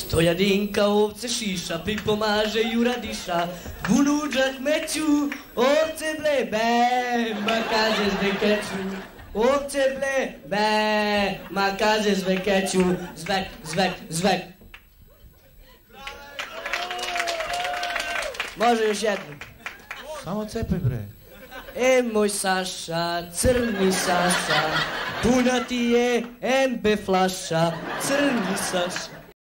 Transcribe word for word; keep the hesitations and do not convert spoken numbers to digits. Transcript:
Stojadinka ovce šiša, pripomaže Jura diša, u luđak meću, ovce ble, be, ma kaže zvekeću. Ovce ble, be, ma kaže zvekeću, zvek, zvek, zvek. Može još jedno. Samo cepaj bre. E moj Saša, crni Saša, puna ti je em be flaša, crni Saša.